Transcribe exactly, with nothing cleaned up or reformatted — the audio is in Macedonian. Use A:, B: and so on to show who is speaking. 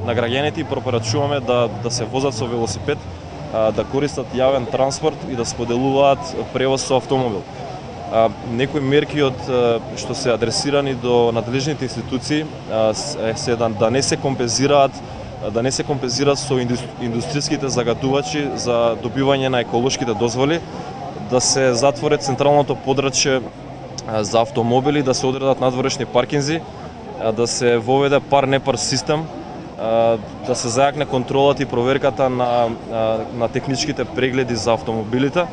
A: На граѓаните и пропорачуваме да да се возат со велосипед, да користат јавен транспорт и да споделуваат превоз со автомобил. Некои мерки од што се адресирани до надлежните институции се да, да не се компензираат да не се компензираат со индустријските загадувачи за добивање на еколошките дозволи, да се затвори централното подрачје за автомобили, да се одредат надворешни паркинзи, да се воведе пар-непар систем, да се зајакне контролата и проверката на, на техничките прегледи за автомобилите,